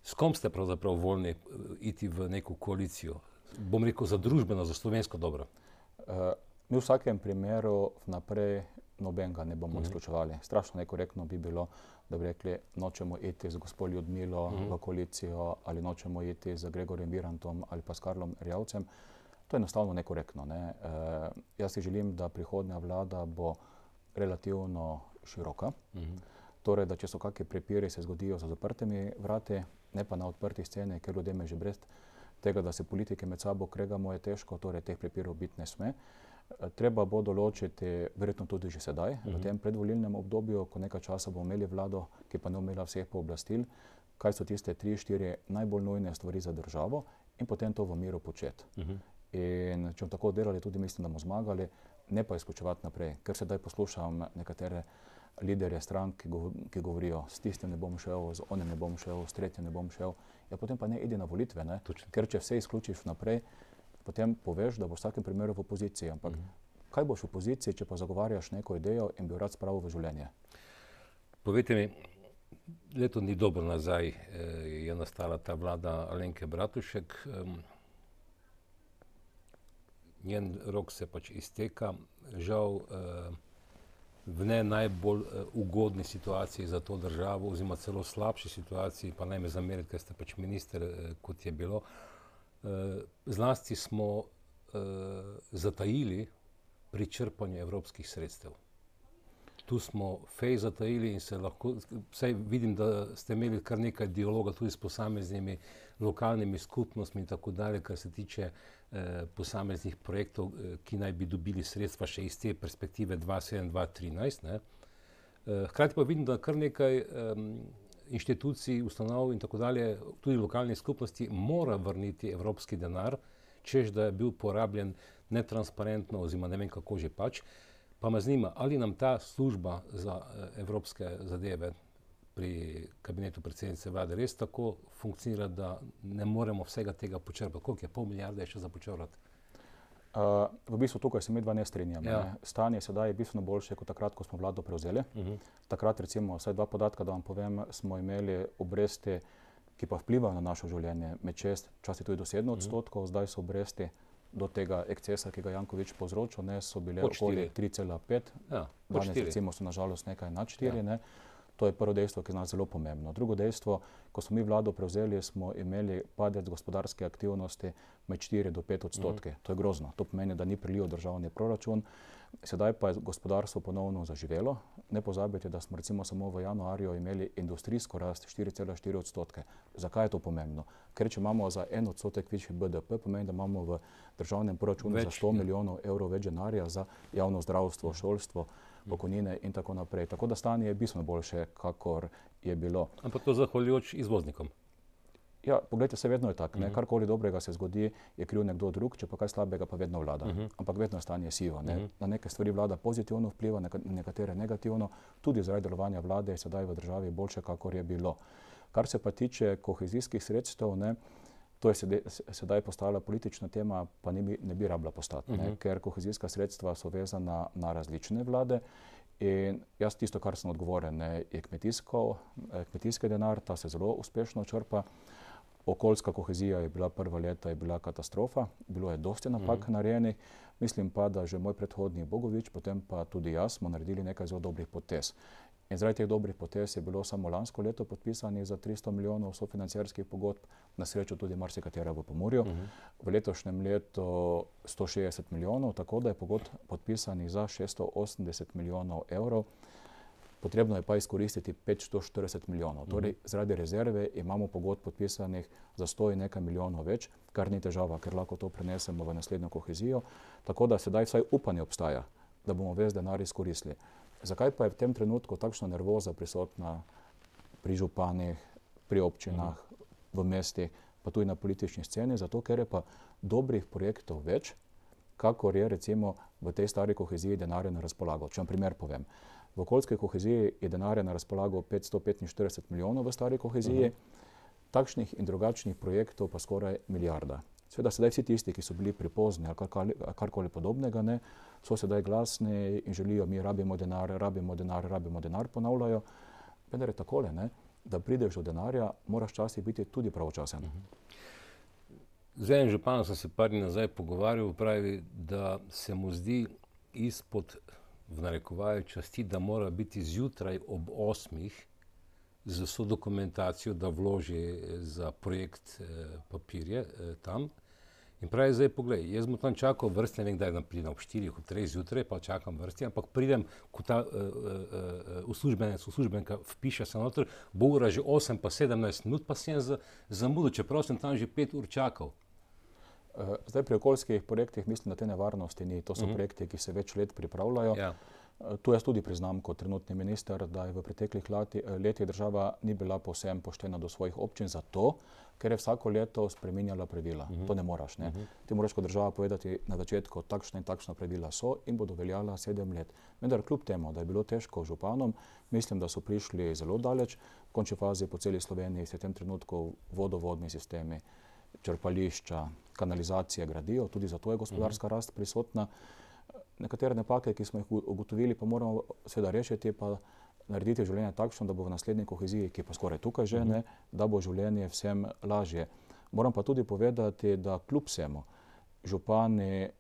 S kom ste pravzaprav voljni iti v neko koalicijo? Bom rekel za družbeno, za slovensko dobro. Uh, mi v vsakem primeru vnaprej nobenega ne bomo uh -huh. izključevali. Strašno nekorektno bi bilo, da bi rekli, nočemo iti z gospod Ljudmilo uh -huh. v koalicijo ali nočemo iti z Gregorjem Virantom ali pa s Karlom Erjavcem. To je enostavno nekorektno. Ne? Uh, jaz si želim, da prihodnja vlada bo relativno široka. Uh -huh. Torej, da če so kakšni prepiri, se zgodijo za zaprtimi vrati, ne pa na odprti sceni, ker ljudem je že brez tega, da se politike med sabo kregamo, je težko, torej teh prepirov biti ne sme. Treba bo določiti, verjetno tudi že sedaj, uh -huh. v tem predvolilnem obdobju, ko nekaj časa bomo imeli vlado, ki pa ne imela vseh pooblastil, kaj so tiste tri, štiri najbolj nujne stvari za državo in potem to v miru početi. Uh -huh. In če bomo tako delali, tudi mislim, da bomo zmagali, ne pa izključevati naprej. Ker sedaj poslušam nekatere liderje strank, ki, go, ki govorijo, s tistim ne bom šel, z onim ne bom šel, s tretjim ne bom šel. Ja, potem pa ne idi na volitve, ne? Ker če vse izključiš naprej, potem poveš, da boš v vsakem primeru v opoziciji. Ampak mm. kaj boš v opoziciji, če pa zagovarjaš neko idejo in bi jo rad spravil v življenje? Povejte mi, leto ni dobro nazaj eh, je nastala ta vlada Alenke Bratušek. Eh, njen rok se pač izteka. Žal eh, v ne najbolj eh, ugodni situaciji za to državo, oziroma celo slabši situaciji, pa naj me zameriti, ker ste pač minister, eh, kot je bilo. Uh, zlasti smo uh, zatajili pri črpanju evropskih sredstev. Tu smo fej zatajili in se lahko, vsaj vidim, da ste imeli kar nekaj dialoga tudi s posameznimi lokalnimi skupnostmi in tako dalje, kar se tiče uh, posameznih projektov, uh, ki naj bi dobili sredstva še iz te perspektive dva sedem dva trinajst. Ne? Uh, hkrati pa vidim, da kar nekaj um, inštitucij, ustanov in tako dalje, tudi lokalnih skupnosti, mora vrniti evropski denar, češ da je bil porabljen netransparentno oziroma ne vem kako že pač. Pa me zanima, ali nam ta služba za evropske zadeve pri kabinetu predsednice vlade res tako funkcionira, da ne moremo vsega tega počrpati. Koliko je? Pol milijarde je še za počrpati? Uh, v bistvu tukaj se mi dva ne strinjamo. Ja. Ne? Stanje sedaj je bistveno boljše kot takrat, ko smo vlado prevzeli. Uh -huh. Takrat recimo, vsaj dva podatka, da vam povem, smo imeli obresti, ki pa vplivajo na našo življenje med šest, včasih tudi do sedem odstotkov, uh -huh. zdaj so obresti do tega ekscesa, ki ga Janković povzročil, ne, so bile Pod okoli štiri. tri cela pet, Ja, pod danes štiri. recimo so nažalost nekaj nad štiri. Ja. Ne. To je prvo dejstvo, ki je nas zelo pomembno. Drugo dejstvo, ko smo mi vlado prevzeli, smo imeli padec gospodarske aktivnosti med štiri do pet odstotke. Mhm. To je grozno. To pomeni, da ni priliv državni proračun. Sedaj pa je gospodarstvo ponovno zaživelo. Ne pozabite, da smo recimo samo v januarju imeli industrijsko rast štiri cela štiri odstotke. Zakaj je to pomembno? Ker če imamo za en odstotek višji B D P, pomeni, da imamo v državnem proračunu Več, za sto milijonov evrov več denarja za javno zdravstvo, šolstvo, pokojnine in tako naprej. Tako da stanje je bistveno boljše, kakor je bilo. Ampak to zahvaljujoč izvoznikom. Ja, poglejte, se vedno je tako. Uh -huh. Karkoli dobrega se zgodi, je kriv nekdo drug, če pa kaj slabega, pa vedno vlada. Uh -huh. Ampak vedno je stanje sivo. Ne? Uh -huh. Na neke stvari vlada pozitivno vpliva, na nekatere negativno. Tudi zaradi delovanja vlade je sedaj v državi boljše, kakor je bilo. Kar se pa tiče kohezijskih sredstev, ne, to je sedaj, sedaj postala politična tema, pa ne bi, ne bi rabila postati, uh -huh. ne? Ker kohezijska sredstva so vezana na različne vlade. In jaz tisto, kar sem odgovoren, ne, je kmetijsko, kmetijski denar, ta se zelo uspešno črpa. Okoljska kohezija je bila prva leta, je bila katastrofa, bilo je dosti napak mm-hmm. narejenih. Mislim pa, da že moj predhodnik Bogovič, potem pa tudi jaz, smo naredili nekaj zelo dobrih potez. In zaradi teh dobrih potez je bilo samo lansko leto podpisanih za tristo milijonov sofinancierskih pogodb, na srečo tudi marsikatera v Pomurju. Mm-hmm. V letošnjem letu sto šestdeset milijonov, tako da je pogodb podpisanih za šeststo osemdeset milijonov evrov. Potrebno je pa izkoristiti petsto štirideset milijonov. Mm-hmm. Torej, zaradi rezerve imamo pogodb podpisanih za sto in nekaj milijonov več, kar ni težava, ker lahko to prenesemo v naslednjo kohezijo. Tako da sedaj vsaj upanje obstaja, da bomo ves denar izkoristili. Zakaj pa je v tem trenutku takšna nervoza prisotna pri županih, pri občinah, mm-hmm. v mestih, pa tudi na politični sceni? Zato, ker je pa dobrih projektov več, kakor je recimo v tej stari koheziji denarja na razpolago. Če vam primer povem. V okoljski koheziji je denarja na razpolago petsto petinštirideset milijonov v stari koheziji, uh-huh. takšnih in drugačnih projektov pa skoraj milijarda. Seveda sedaj vsi tisti, ki so bili pripozni ali karkoli, karkoli podobnega, ne, so sedaj glasni in želijo, mi rabimo denar, rabimo denar, rabimo denar, ponavljajo. Vendar je takole, ne, da prideš do denarja, moraš časih biti tudi pravočasen. Uh-huh. Z enim županom sem se par dni nazaj pogovarjal, pravi, da se mu zdi izpod v narekovaju časti, da mora biti zjutraj ob osmih z vso dokumentacijo, da vloži za projekt eh, papirje eh, tam. In pravi, zdaj poglej, jaz bom tam čakal vrsti, ne vem, kdaj pridem ob štirih, ob treh zjutraj, pa čakam vrsti, ampak pridem, ko ta uh, uh, uslužbenec, uslužbenka vpiše se noter, bo ura že osem pa sedemnajst minut, pa sem za, zamudil, čeprav sem tam že pet ur čakal. Zdaj pri okoljskih projektih mislim, da te nevarnosti ni. To so uh-huh. projekti, ki se več let pripravljajo. Ja. Tu jaz tudi priznam kot trenutni minister, da je v preteklih leti, letih država ni bila povsem poštena do svojih občin zato, ker je vsako leto spreminjala pravila. Uh-huh. To ne moraš. Ne? Uh-huh. Ti moraš kot država povedati na začetku, takšna in takšna pravila so in bodo veljala sedem let. Vendar kljub temu, da je bilo težko županom, mislim, da so prišli zelo daleč. V končni fazi po celi Sloveniji se v tem trenutku vodovodni sistemi, črpališča, kanalizacije gradijo, tudi zato je gospodarska uh-huh. rast prisotna. Nekatere napake, ki smo jih ugotovili, pa moramo seveda rešiti, pa narediti življenje takšno, da bo v naslednji koheziji, ki je pa skoraj tukaj že, uh-huh. ne, da bo življenje vsem lažje. Moram pa tudi povedati, da kljub vsemu župani,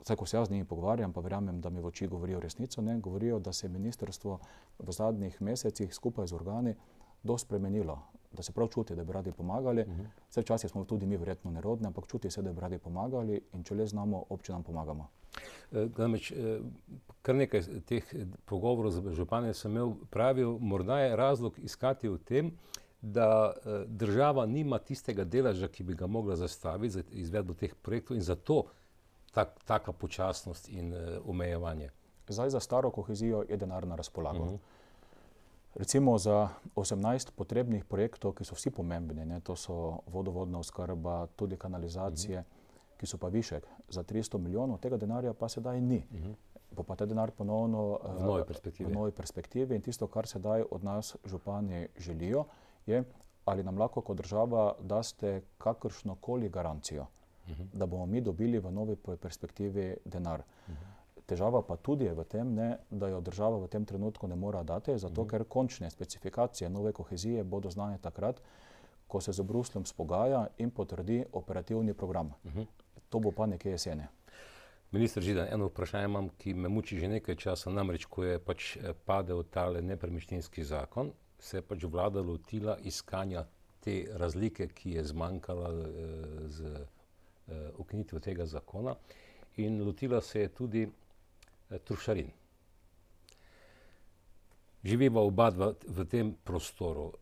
vsaj ko se jaz z njimi pogovarjam, pa verjamem, da mi v oči govorijo resnico, ne, govorijo, da se je ministrstvo v zadnjih mesecih skupaj z organi dosti spremenilo, da se prav čuti, da bi radi pomagali. Uh-huh. Vse včasih smo tudi mi verjetno nerodni, ampak čuti se, da bi radi pomagali in če le znamo, občinam pomagamo. Namreč, kar nekaj teh pogovorov z župani sem imel, pravil, morda je razlog iskati v tem, da država nima tistega deleža, ki bi ga mogla zastaviti za izvedbo teh projektov in zato tak, taka počasnost in omejevanje. Zdaj za staro kohezijo je denar na razpolago. Uh-huh. Recimo za osemnajst potrebnih projektov, ki so vsi pomembni, ne, to so vodovodna oskrba, tudi kanalizacije, uh-huh. ki so pa višek za tristo milijonov, tega denarja pa sedaj ni. Uh-huh. Bo pa ta denar ponovno v novi perspektivi. v novi perspektivi in tisto, kar sedaj od nas župani želijo, je, ali nam lahko kot država daste kakršnokoli garancijo, uh-huh. da bomo mi dobili v novi perspektivi denar. Uh-huh. Težava pa tudi je v tem, ne, da jo država v tem trenutku ne mora dati, zato uh-huh. ker končne specifikacije nove kohezije bodo znane takrat, ko se z Brusljem spogaja in potrdi operativni program. Uh-huh. to bo pa nekje jeseni. Minister Židan, eno vprašanje imam, ki me muči že nekaj časa, namreč, ko je pač padel tale nepremičninski zakon, se je pač vlada lotila iskanja te razlike, ki je zmanjkala z ukinitvijo tega zakona, in lotila se je tudi trošarin. Živiva oba dva v tem prostoru,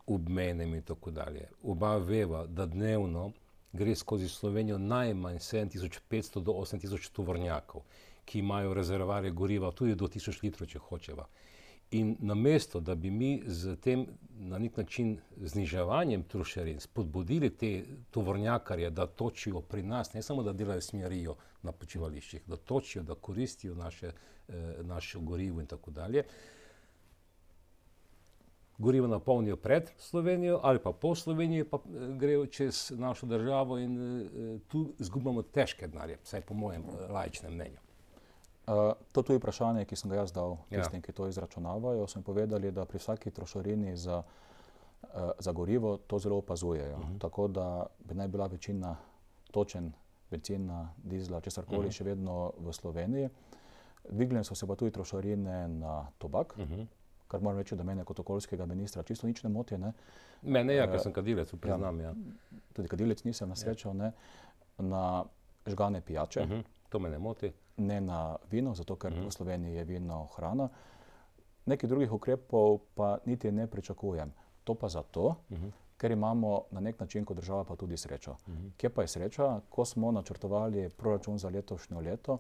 obmejnem in tako dalje. Oba veva, da dnevno gre skozi Slovenijo najmanj sedem tisoč petsto do osem tisoč tovornjakov, ki imajo rezervoarje goriva tudi do tisoč litrov, če hočeva. In namesto, da bi mi z tem na nek način zniževanjem trošarin spodbudili te tovornjakarje, da točijo pri nas, ne samo da delajo smerijo na počivališčih, da točijo, da koristijo naše, naše gorivo in tako dalje, gorivo napolnijo pred Slovenijo ali pa po Sloveniji, pa grejo čez našo državo in uh, tu izgubljamo težke denarje, vsaj po mojem uh, laičnem mnenju. Uh, to je tudi vprašanje, ki sem ga jaz dal tistim, ja. ki to izračunavajo. So mi povedali, da pri vsaki trošarini za, uh, za gorivo to zelo opazujejo. Uh-huh. Tako da bi naj bila večina točen bencina, dizla, česarkoli uh-huh. še vedno v Sloveniji. Dvignile so se pa tudi trošarine na tobak, uh-huh. kar moram reči, da mene kot okoljskega ministra čisto nič ne moti. Ne. Mene ja, ker sem kadilec, priznam. Ja. Tudi kadilec nisem na srečo, ja. ne. Na žgane pijače. Uh-huh. To me ne moti. Ne na vino, zato ker uh-huh. v Sloveniji je vino hrana. Nekih drugih ukrepov pa niti ne pričakujem. To pa zato, uh-huh. ker imamo na nek način kot država pa tudi srečo. Uh-huh. Kje pa je sreča? Ko smo načrtovali proračun za letošnjo leto,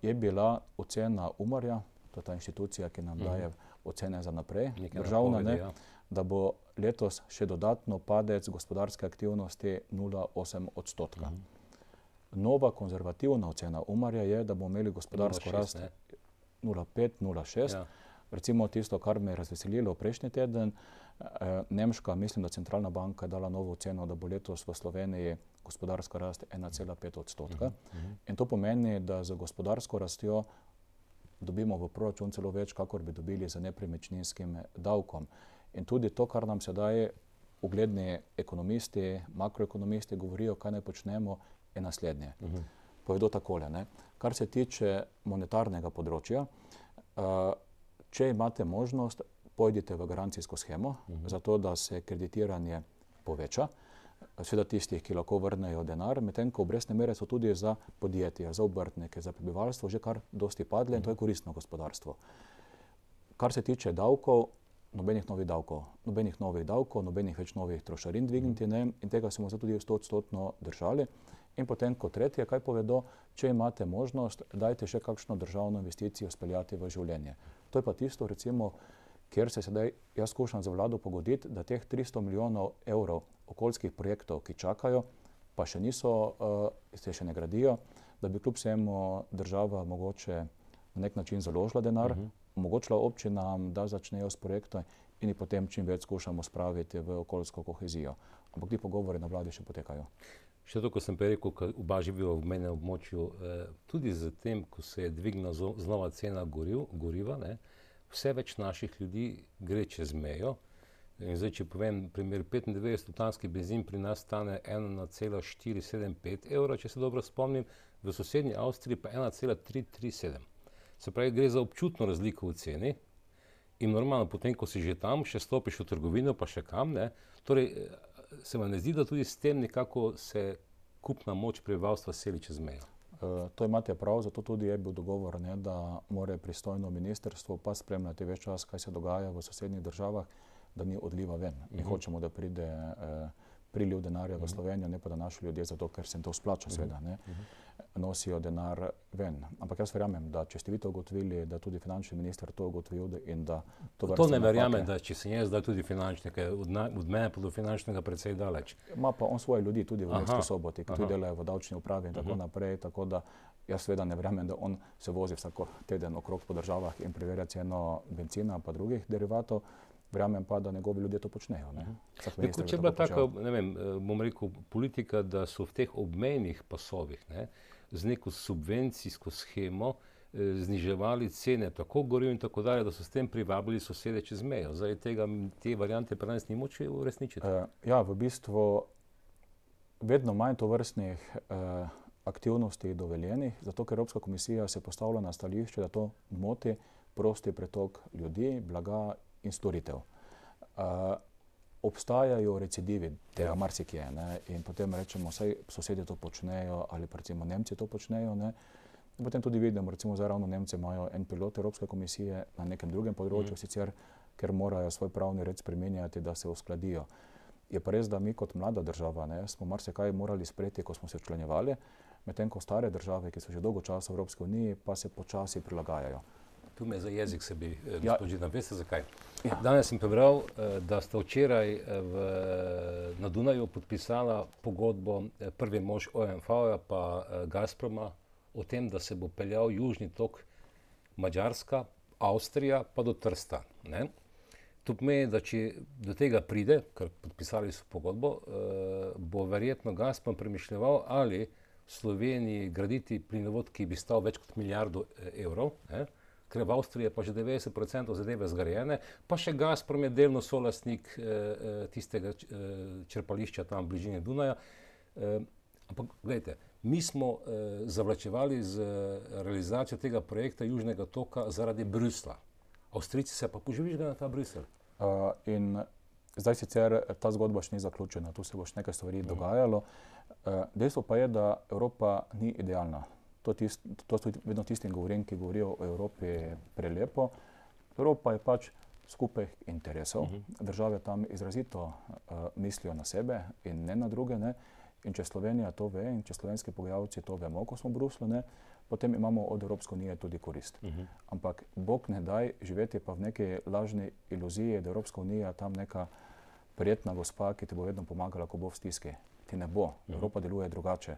je bila ocena Umarja, to je ta inštitucija, ki nam uh-huh. daje ocene za naprej, Nekaj državna, napovedi, ne, ja. da bo letos še dodatno padec gospodarske aktivnosti nula celih osem odstotka. Uh-huh. Nova konzervativna ocena Umarja je, da bomo imeli gospodarsko rast nula celih pet, nula celih šest. Ja. Recimo tisto, kar me je razveselilo prejšnji teden, eh, Nemška, mislim, da centralna banka je dala novo oceno, da bo letos v Sloveniji gospodarska rast ena celih pet odstotka. Uh-huh. In to pomeni, da z gospodarsko rastjo dobimo v proračun celo več, kakor bi dobili z nepremičninskim davkom. In tudi to, kar nam sedaj ugledni ekonomisti, makroekonomisti govorijo, kaj naj počnemo, je naslednje. Uh-huh. Povedo takole, ne. Kar se tiče monetarnega področja, uh, če imate možnost, pojdite v garancijsko shemo, uh-huh. zato da se kreditiranje poveča, seveda tistih, ki lahko vrnejo denar, medtem ko obrestne mere so tudi za podjetja, za obrtnike, za prebivalstvo že kar dosti padle, uh-huh. in to je koristno gospodarstvo. Kar se tiče davkov, nobenih novih davkov, nobenih novih davkov, nobenih več novih trošarin dvigniti, ne, in tega smo se tudi stoodstotno držali. In potem kot tretje, kaj povedo, če imate možnost, dajte še kakšno državno investicijo speljati v življenje. To je pa tisto, recimo, kjer se sedaj jaz skušam za vlado pogoditi, da teh tristo milijonov evrov okoljskih projektov, ki čakajo, pa še niso, uh, se še ne gradijo, da bi kljub vsemu država mogoče na nek način založila denar, uh-huh. omogočila občinam, da začnejo s projektom in jih potem čim več skušamo spraviti v okoljsko kohezijo. Ampak ti pogovori na vladi še potekajo. Še to, ko sem pa rekel, ko oba živijo v menem območju, eh, tudi z tem, ko se je dvignila znova cena goriv, goriva, ne, vse več naših ljudi gre čez mejo. In zdaj, če povem primer, petindevetdesetoktanski benzin pri nas stane ena celih štiri sedem pet evra, če se dobro spomnim, v sosednji Avstriji pa ena celih tri tri sedem. Se pravi, gre za občutno razliko v ceni in normalno, potem, ko si že tam, še stopiš v trgovino, pa še kam, ne, torej, se vam ne zdi, da tudi s tem nekako se kupna moč prebivalstva seli čez mejo? Uh, to imate prav, zato tudi je bil dogovor, ne, da mora pristojno ministrstvo pa spremljati več čas, kaj se dogaja v sosednjih državah, da ni odliva ven. Mi uh-huh. hočemo, da pride uh, priliv denarja uh-huh. v Slovenijo, ne pa da naši ljudje, zato ker se jim to splača, uh-huh. seveda, ne, uh-huh. nosijo denar ven. Ampak jaz verjamem, da če ste vi to ugotovili, da tudi finančni minister to ugotovil in da to vrste To ne verjamem, da če sem jaz zdaj tudi finančnik, od, od mene pa do finančnega precej daleč. Ima pa on svoje ljudi tudi v Murski Soboti, ki tudi delajo v davčni upravi in tako uh-huh. naprej, tako da jaz seveda ne verjamem, da on se vozi vsako teden okrog po državah in preverja ceno benzina pa drugih derivatov. Verjamem pa, da njegovi ljudje to počnejo. Ne? Neko, če je bila taka, ne vem, bom rekel, politika, da so v teh obmejnih pasovih, ne, z neko subvencijsko shemo eh, zniževali cene tako goriv in tako dalje, da so s tem privabili sosede čez mejo. Zdaj tega, te variante pri nas ni moč uresničiti. Uh, ja, v bistvu vedno manj tovrstnih uh, aktivnosti dovoljenih, zato ker Evropska komisija se postavlja na stališče, da to moti prosti pretok ljudi, blaga in storitev. Uh, obstajajo recidivi tega marsikje, ne, in potem rečemo, saj sosedje to počnejo ali pa recimo Nemci to počnejo, ne. In potem tudi vidimo, recimo zdaj ravno Nemci imajo en pilot Evropske komisije na nekem drugem področju, mm. sicer, ker morajo svoj pravni red spremenjati, da se uskladijo. Je pa res, da mi kot mlada država, ne, smo marsikaj morali sprejeti, ko smo se včlanjevali, medtem ko stare države, ki so že dolgo časa v Evropski uniji, pa se počasi prilagajajo. Tu me za jezik se bi, ja. gospod Židan, veste zakaj? Ja. Danes sem prebral, da ste včeraj v, na Dunaju podpisala pogodbo prvi mož O M V-ja pa Gazproma o tem, da se bo peljal južni tok Madžarska, Avstrija pa do Trsta. Ne? To pomeni, da če do tega pride, ker podpisali so pogodbo, bo verjetno Gazprom premišljeval, ali v Sloveniji graditi plinovod, ki bi stal več kot milijardo evrov, ne? Ker v Avstriji je pa že devetdeset procentov zadeve zgrajene, pa še Gazprom je delno solastnik eh, tistega eh, črpališča tam v bližini Dunaja. Eh, ampak gledajte, mi smo eh, zavlačevali z realizacijo tega projekta Južnega toka zaradi Bruslja. Avstrijci se pa požvižgajo na ta Bruselj. Uh, in zdaj sicer ta zgodba še ni zaključena, tu se bo še nekaj stvari uh-huh. dogajalo. Uh, dejstvo pa je, da Evropa ni idealna. To, tist, to so vedno tistim govorim, ki govorijo o Evropi prelepo. Evropa je pač skupaj interesov. Uh-huh. Države tam izrazito uh, mislijo na sebe in ne na druge. Ne? In če Slovenija to ve in če slovenski pogajalci to vemo, ko smo v Bruslu, ne, potem imamo od Evropske unije tudi korist. Uh-huh. Ampak Bog ne daj živeti pa v neki lažni iluziji, da Evropska unija tam neka prijetna gospa, ki ti bo vedno pomagala, ko bo v stiski. Ti ne bo. Uh-huh. Evropa deluje drugače.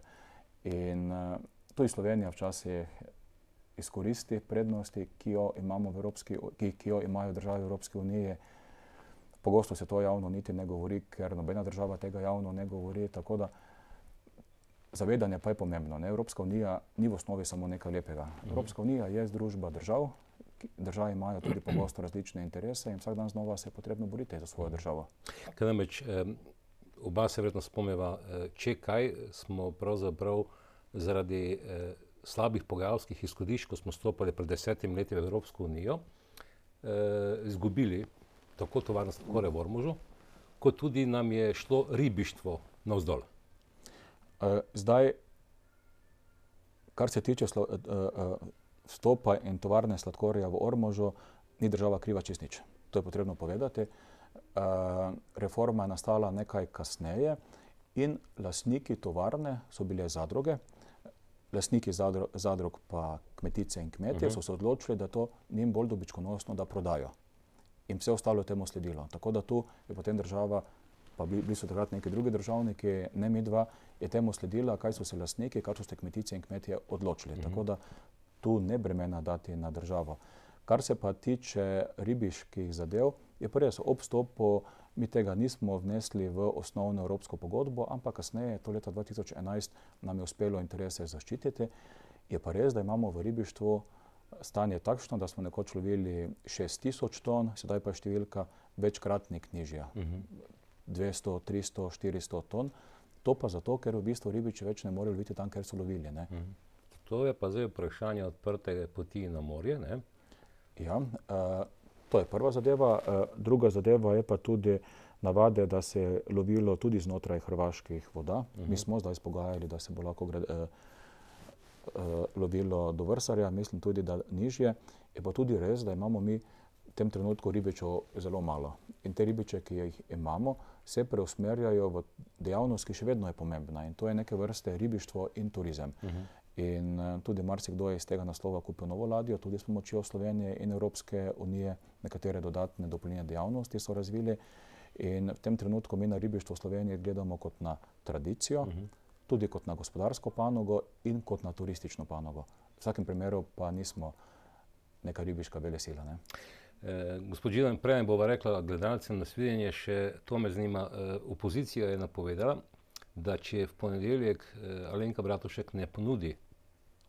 In uh, tudi Slovenija včasih izkoristi prednosti, ki jo imamo v Evropski, ki, ki jo imajo države Evropske unije. Pogosto se to javno niti ne govori, ker nobena država tega javno ne govori, tako da zavedanje pa je pomembno. Ne? Evropska unija ni v osnovi samo nekaj lepega. Evropska unija je združba držav, države imajo tudi pogosto različne interese in vsak dan znova se je potrebno boriti za svojo državo. Kaj namreč, eh, oba se verjetno spomniva, eh, če kaj smo pravzaprav zaradi eh, slabih pogajalskih izhodišč, ko smo stopali pred desetim leti v Evropsko unijo, eh, izgubili tako tovarno sladkorja v Ormožu, kot tudi nam je šlo ribištvo navzdol. Uh, zdaj, kar se tiče slo, uh, uh, vstopa in tovarne sladkorja v Ormožu, ni država kriva čisto nič. To je potrebno povedati. Uh, reforma je nastala nekaj kasneje in lastniki tovarne so bile zadruge. Lastniki zadru, zadrug pa kmetice in kmetje uh-huh. so se odločili, da to njim bolj dobičkonosno, da prodajo. In vse ostalo je temu sledilo. Tako da tu je potem država, pa bili so takrat neki drugi državniki, ne mi dva, je temu sledila, kaj so se lastniki, kaj so se kmetice in kmetje odločili. Uh-huh. Tako da tu ne bremena dati na državo. Kar se pa tiče ribiških zadev, je pa res, ob vstopu mi tega nismo vnesli v osnovno evropsko pogodbo, ampak kasneje, to leta dva tisoč enajst, nam je uspelo interese zaščititi. Je pa res, da imamo v ribištvu stanje takšno, da smo nekoč lovili šest tisoč ton, sedaj pa je številka večkratnik nižja. Uh-huh. dvesto, tristo, štiristo ton. To pa zato, ker v bistvu ribiči več ne morejo loviti tam, ker so lovili. Ne? Uh-huh. To je pa zdaj vprašanje odprte poti na morje, ne? Ja, uh, to je prva zadeva. Uh, druga zadeva je pa tudi navade, da se je lovilo tudi znotraj hrvaških voda. Uh-huh. Mi smo zdaj spogajali, da se bo lahko grad, uh, uh, lovilo do Vrsarja, mislim tudi, da nižje. Je pa tudi res, da imamo mi v tem trenutku ribičev zelo malo. In te ribiče, ki jih imamo, se preusmerjajo v dejavnost, ki še vedno je pomembna. In to je neke vrste ribištvo in turizem. Uh-huh. In uh, tudi marsikdo je iz tega naslova kupil novo ladjo, tudi s pomočjo Slovenije in Evropske unije nekatere dodatne dopolnilne dejavnosti so razvili. In v tem trenutku mi na ribištvo v Sloveniji gledamo kot na tradicijo, uh-huh. tudi kot na gospodarsko panogo in kot na turistično panogo. V vsakem primeru pa nismo neka ribiška velesila. Ne? Eh, gospod Židan, prej bova rekla gledalcem na svidenje, še to me zanima. Eh, opozicija je napovedala, da če v ponedeljek eh, Alenka Bratušek ne ponudi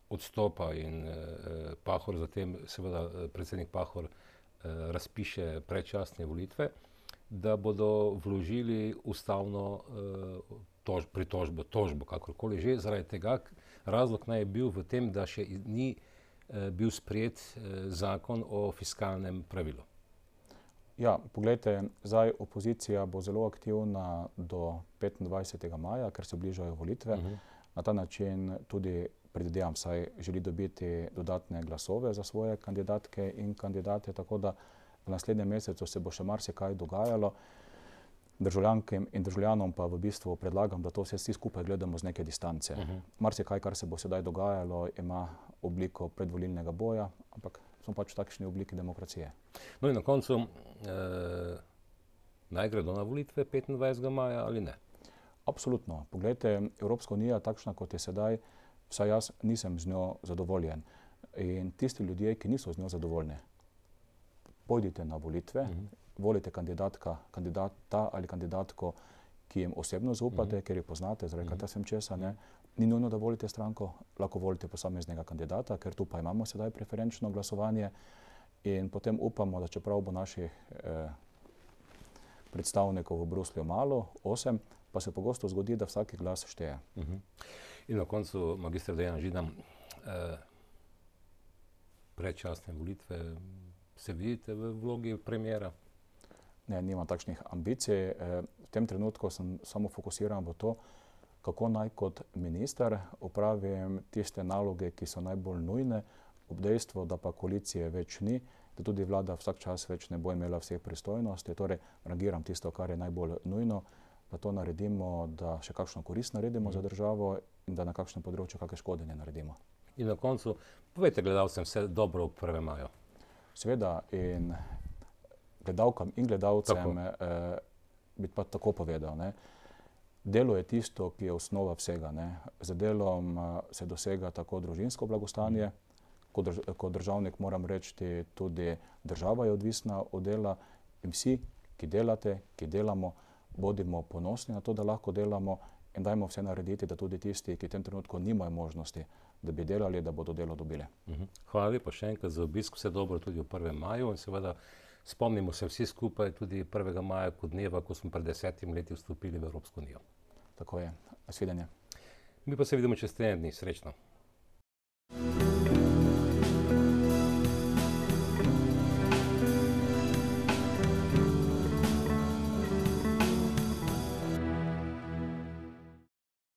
odstopa in eh, Pahor, zatem seveda predsednik Pahor eh, razpiše predčasne volitve, da bodo vložili ustavno eh, tož, pritožbo, tožbo, kakorkoli že, zaradi tega razlog naj je bil v tem, da še ni eh, bil sprejet eh, zakon o fiskalnem pravilu. Ja, poglejte, zdaj opozicija bo zelo aktivna do petindvajsetega maja, ker se bližajo volitve. Uh-huh. Na ta način tudi predvidevam, saj želi dobiti dodatne glasove za svoje kandidatke in kandidate, tako da v naslednjem mesecu se bo še marsikaj dogajalo. Državljankem in državljanom pa v bistvu predlagam, da to vse vsi skupaj gledamo z neke distance. Uh-huh. Marsikaj, kar se bo sedaj dogajalo, ima obliko predvolilnega boja, ampak smo pač v takšni obliki demokracije. No in na koncu, eh, naj gredo na volitve petindvajsetega maja ali ne? Absolutno. Poglejte, Evropska unija takšna, kot je sedaj, vsaj jaz nisem z njo zadovoljen. In tisti ljudje, ki niso z njo zadovoljni, pojdite na volitve, uh-huh. volite kandidatka, kandidata ali kandidatko, ki jim osebno zaupate, uh-huh. ker jo poznate, zaradi uh-huh. sem česa, ne. Ni nujno, da volite stranko, lahko volite posameznega kandidata, ker tu pa imamo sedaj preferenčno glasovanje in potem upamo, da čeprav bo naših eh, predstavnikov v Bruslju malo, osem, pa se pogosto zgodi, da vsaki glas šteje. Uh-huh. In na koncu, magister Dejan Židan, eh, predčasne volitve, se vidite v vlogi premiera? Ne, nimam takšnih ambicij. Eh, v tem trenutku sem samo fokusiran v to, kako naj kot minister opravim tiste naloge, ki so najbolj nujne, ob dejstvu, da pa koalicije več ni, da tudi vlada vsak čas več ne bo imela vseh pristojnosti, torej rangiram tisto, kar je najbolj nujno, da to naredimo, da še kakšno korist naredimo mm. za državo in da na kakšnem področju kakšne škode ne naredimo. In na koncu, povejte gledalcem vse dobro ob prvem maju. Seveda in gledalkam in gledalcem eh, bi pa tako povedal, ne. Delo je tisto, ki je osnova vsega, ne. Z delom uh, se dosega tako družinsko blagostanje, mm. kot, drž kot državnik moram reči, tudi država je odvisna od dela in vsi, ki delate, ki delamo, bodimo ponosni na to, da lahko delamo in dajmo vse narediti, da tudi tisti, ki v tem trenutku nimajo možnosti, da bi delali, da bodo delo dobili. Mm-hmm. Hvala lepa še enkrat za obisk, vse dobro tudi v prvem maju in seveda spomnimo se vsi skupaj tudi prvega maja kot dneva, ko smo pred desetimi leti vstopili v Evropsko unijo. Tako je. Nasvidenje. Mi pa se vidimo čez teden dni. Srečno.